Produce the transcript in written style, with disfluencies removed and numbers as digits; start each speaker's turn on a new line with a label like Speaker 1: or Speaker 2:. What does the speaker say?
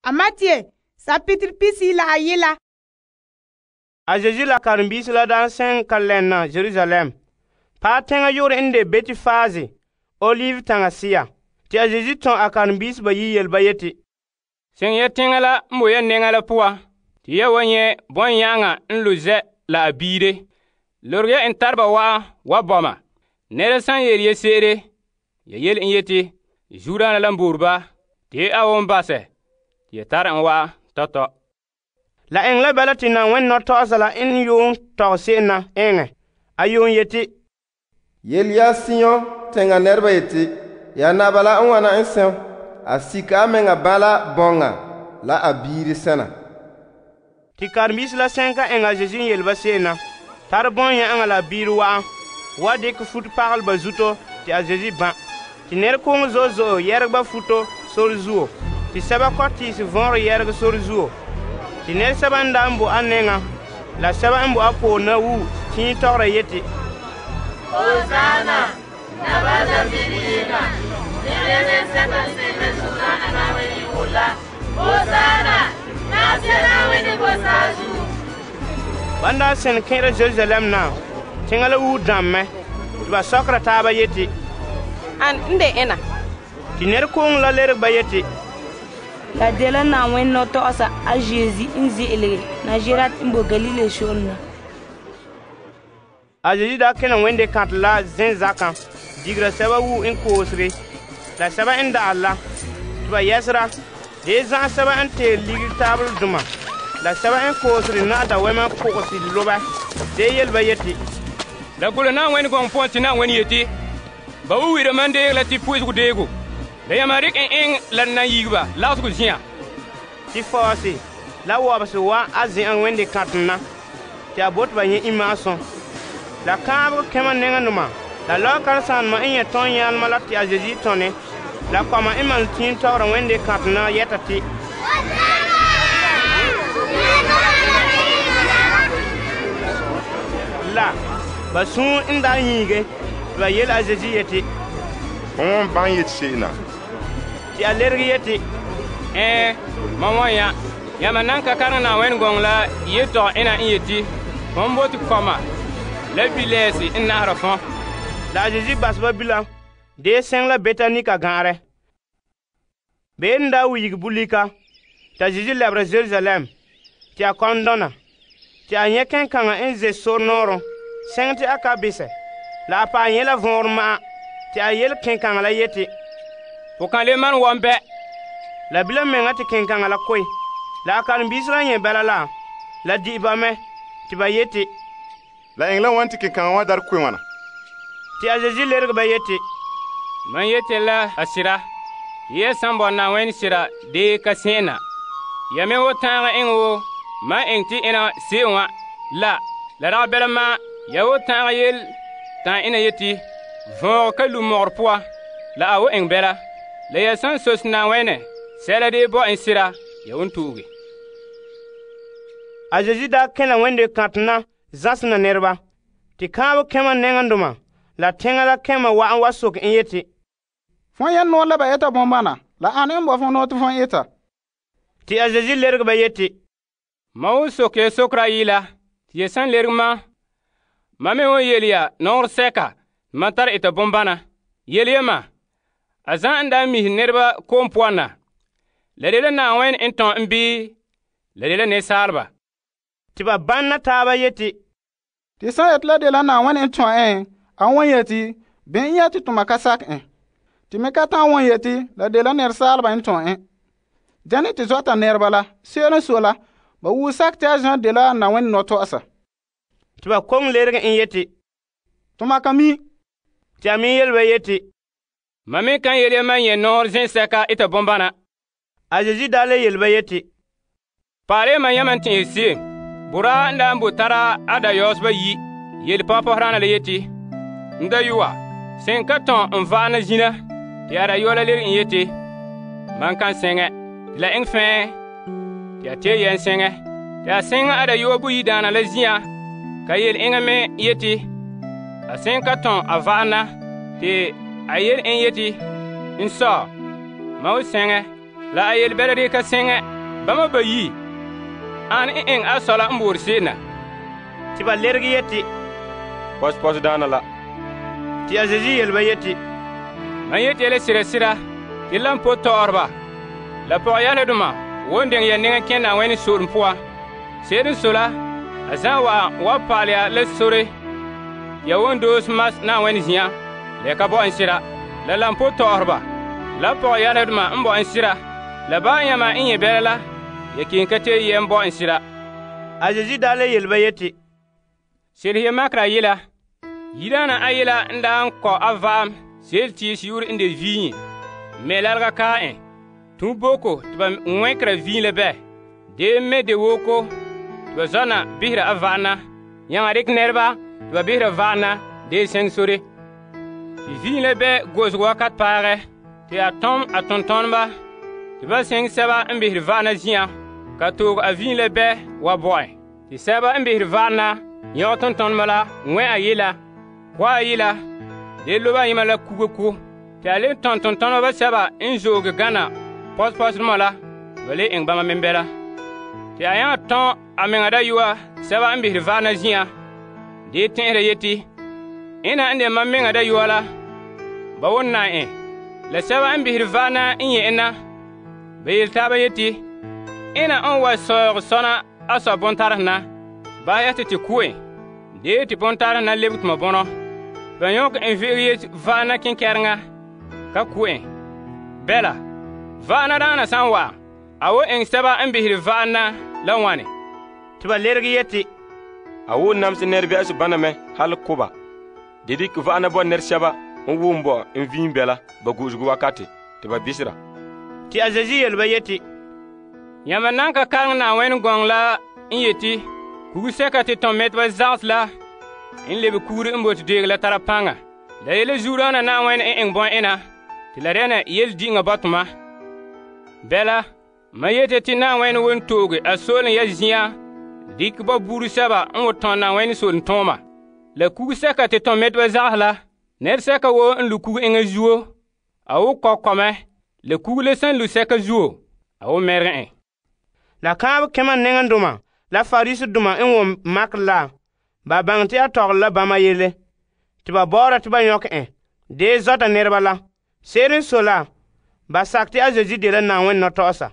Speaker 1: A Matthew, sapitr pisi la a yela. A Jesu la karen-biisi la daan sɛn ka lɛnna Jerusalem. Paɛ teŋa yu'urɛ n de Betfage, Olive taŋa sea. Te a Jesu tɔn a karen-biisi bayi' yele ba yeti,
Speaker 2: Seŋ ya teŋa la n bo ya nɛŋa la poan, te ya wa nyɛ' bɔn-yãŋa n lo zɛ' la a biire. Lorge ya en tareba wa'an wa bɔma. Nɛra san yele ya se'ere, ya yele en yeti, zuodaana la n boore ba, te a won basɛ, te ya tare en wa'an tɔtɔ.
Speaker 1: La eŋɛ la bala te Na'ayenɛ nɔtɔgɔsa la n yuun tɔgɛ se'em na eŋɛ. A yuun yeti,
Speaker 3: Yele ya Sion teŋa nɛreba yeti, ya naba la n wana n sɛm, a sika a mɛŋa bala bɔŋa la a biire sɛna.
Speaker 1: Te karen-biisi la sɛn ka eŋɛ a Jesu n yele ba se'em na, tare bɔn-yã'aŋa la a biire wa'an, wa dikɛ futo pagalɛ ba zuto te a Jesu ban. Te nɛrekooŋɔ zo'e zo'e yɛregɛ ba futo sore zuo, te sɛba kɔ'ɔte tiisi vɔnrɛ yɛregɛ sore zuo. Te nɛresɛba n daa n bo a nɛŋa la sɛba n bo a poore na wu tiim tɔgɔra yeti,
Speaker 4: Hosanna, naba Davidi yinga, nebe sɛba sebe Hosanna na weni wula. Hosanna, na sena weni bosazu.
Speaker 1: Ban daa sɛn kẽera Jerusalem na, teŋa la wu dãmmɛ, te ba sɔkera taaba yeti,
Speaker 5: An n de ena?
Speaker 1: te nɛrekooŋɔ la lerege ba yeti,
Speaker 6: La dela Na'ayenɛ nɔtɔgɔsa a Yesu n ze'elege Nazaret n bo Galilee shore na.
Speaker 1: A Jesu daa kena wende kantɛ la zenzakã, digera sɛba wu n koosere, la sɛba n da'al la, te ba yɛsera, dee zã'an sɛba n teere ligiri taaboledoma, la sɛba n koosere na'a dawɛma kogese lobɛ, dee yele ba yeti,
Speaker 2: La gole Na'ayenɛ gɔŋɔ poan te Na'ayenɛ yeti, ba wu wira man deeg la te po'esego deego. La yamma rek en eŋ la nan yigi ba lagsego zĩ'an.
Speaker 1: te fɔɔse la wɔbese wa a zẽ'an wende kãtem na, te a bote ba nyɛ imma'asum. La kãabegɔ kẽma nɛŋadoma, la lɔɔ-karesaanema n nyɛ tɔn-yãalema la te a Jesu tɔne, la kɔma n malom tiim tɔgɔra wende kãtem na yɛta te, la ba suun n daa nyiige, te ba yele a Jesu yeti,
Speaker 7: Fon wan ban yeti se'em na.
Speaker 1: te a lerege yeti,
Speaker 2: mam wan ya. Yamma nan ka kareŋ Na'ayenɛ gɔŋɔ la yetɔgɔ ena n yeti, fõn bote kɔma la bilɛɛse n nahara fõn.
Speaker 1: la a Jesu bas ba bilam, dee sɛŋ la Betani ka gãarɛ. Beene n daa wuyigi bulika, te a Jesu lɛbera Jerusalem, te a kɔn dɔna, te a nyɛ kẽn-kaŋa n ze sor nɔɔrɔm, sɛŋ te a ka besɛ, la a paɛ nyɛ la vɔnrɛ ma'an, te a yele kẽn-kaŋa la yeti,
Speaker 2: Fo kan le man wɔn bɛ.
Speaker 1: la bilam meŋa te kẽn-kaŋa la koe. La a karen-biisi la nyɛ bɛla la di'i ba mɛ, te ba yeti,
Speaker 7: La eŋɛ la wan te kẽn-kaŋa wa dar koe wãna.
Speaker 1: te a Jesu lerege ba yeti,
Speaker 2: Man yete la a sira. Ya san bɔ Na'ayenɛ sira dee ka sẽn na. Ya me wo tãagɛ eŋɛ wo man eŋ te ena se'em wã la dagɛ bɛla ma ya wo tãagɛ yel tãn ena yeti, vɔɔgɔ ka lu mɔgɔrɛ poan, la a wo eŋ bɛla. La ya san sos Na'ayenɛ sɛla dee bɔ en sira, ya won tuuge.
Speaker 1: A Jesu daa kẽla wende kãtem na zãsena nɛreba, te kãabeg kẽma nɛŋandoma la teŋa la kẽma wa'an wa soke n yeti,
Speaker 8: Fõn yɛn noor la ba eta bõn-bãna, la ane n bo fõn noor tɩ fõn eta?
Speaker 1: te a Jesu lerege ba yeti,
Speaker 2: Ma wo sok ya sokra yɩla, tɩ ya san lerg ma me won yel ya nɔgr sɛka ma tar eta bõn-bãna. Yel yema, a zã n daa mis nɛreba koom poan na, la de la Na'ayenɛ n tɔn n bii la de la nensaalba?
Speaker 1: te ba banna taaba yeti,
Speaker 8: Tɩ sã n yet la de la Na'ayenɛ n tõ ẽ, a won yeti, bɩ n yɛ tɩ tʋma ka sak ẽ. Tɩ me ka tã won yeti, la de la nɛresaalba n tõ ẽ. Dẽne tɩ zɔta nɛreba la, se'ere n so la, ba wuu sak tɩ a Zã de la Na'ayenɛ nɔtɔgɔsa.
Speaker 1: te ba kong lerege n yeti,
Speaker 8: Tʋma ka mi.
Speaker 1: te a me yele ba yeti,
Speaker 2: Ma me kan yel ya man yẽ nɔgr zẽ-sɛka eta bõn-bãna.
Speaker 1: a Jesu daa le yele ba yeti,
Speaker 2: Paale man yaman tẽ se'em. Bora n daa n bo tara a dayɔɔseba yi, yel pɔpɔseraana la yeti, N dayɔa, sẽn ka tõn n va'ana zĩna, tɩ a dayɔa la lerg n yeti, Man kan sẽngɛ, tɩ la eng fẽe, tɩ a tee yɛn sẽngɛ. Tɩ a sẽng a dayɔa buyi-daana la zĩyã, ka yel eŋa me yeti, a sẽn ka tõn a va'ana, tɩ a yel en yeti, N sɔ, ma wo sẽngɛ, la a yel bɛla de ka sẽngɛ, Bama bayi an n eŋɛ a sɔ la n boore se'em na.
Speaker 1: Te ba lerege yeti,
Speaker 9: Pɔsepɔsdaana la.
Speaker 1: Te a Zeezi yele ba yeti,
Speaker 2: Mam yeti ya la sira te la n po tɔɔreba la pɔgɔyɛledoma won deŋɛ ya nɛŋa kẽ Na'ayenɛ soolem poan. Se'ere n sɔe la, a zan wa paale ya la sore ya won doose mas Na'ayenɛ zin'an la ya ka bo en sira. La n po tɔɔreba la pɔgɔyɛledoma n bo en sira la ba yãma n nyɛ bɛla la ya kelum ka te yɛm bo en sira.
Speaker 1: A Zeezi daa le yele ba yeti,
Speaker 2: Selehe ya makera yela. Yidaana a yela n daa n kɔ a va'am seel tiis yu'urɛ n de viiŋe me lalga kaa en. Tun boko te ba ŋwɛnkera viin la bɛ. De me de woko te ba zɔna bisera a va'ana. Nyaŋa dikɛ nɛreba te ba bisera va'ana de seŋ sore. Te viin la bɛ gosego wakat paagɛ te a tom a tontoneba te ba seŋ sɛba n bisere va'ana zin'an ka toog a viin la bɛ wa bo en. Te sɛba n bisere va'ana yãg tontoneba la ŋwɛ a yela, kɔ a yela, de loba yema la kuga ko. Te a le tõn tontoneba sɛba n zooge gana pɔsepɔsdoma la ba le eŋɛ bama men bɛla. Te a yãga tõn a meŋa dayɔa sɛba n bisere va'ana zin'an de tẽ'ɛsera yeti, ena n de mam meŋa dayɔa la, ba won na en. La sɛba n bisere va'ana n yẽ en na, ba yele taaba yeti, ena n wa sɔɔg sɔna a sɔ bontarɛ na, ba ya te ku en. De te bontarɛ na lebege tuma bɔnɔ. Ba yõk en ve'ege yeti va'ana kenkɛreŋa ka ku en. Bɛla, va'ana daana san wa, a wo eŋɛ sɛba n bisere va'ana la wane?
Speaker 1: Te ba lerege yeti,
Speaker 9: A wo namse nɛrebe'ase bana mɛ hal koba. De dikɛ va'ana bo nɛresɛba n wʋm bo n viin bɛla ba go'osego wakate te ba bisera.
Speaker 1: Te a Zeezi yele ba yeti,
Speaker 2: Yãmba nan ka kareŋ Na'ayenɛ gɔŋɔ la n yeti, kugsɛka te tõn mɛteba zagsɛ la n lebe kugre n bote deege la tara paŋa. La yele zuodaana Na'ayenɛ n eŋɛ bɔ'ena te la dɛna yele diŋa bɔtoma. Bɛla, mam yete te Na'ayenɛ won tooge a soolem ya zin'an dikɛ ba buuri sɛba n wo tõn Na'ayenɛ soolem tõoma. La kugsɛka te tõn mɛteba zagsɛ la, nɛresɛka woo n lu kug eŋa zuo, a wo kɔkɔmɛ, la kug le sẽn lu sɛka zuo, a wo mɛrege en.
Speaker 1: la kãab kẽma nɛŋendoma la Farisidoma n wom makr la, ba baŋɛ te a tɔgɔle la bãmba yele, te ba bɔɔra te ba yõk en, dee zɔta nɛreba la. Se'ere n sɔe la, ba sakɛ te a Zeezi de la Na'ayenɛ nɔtɔgɔsa.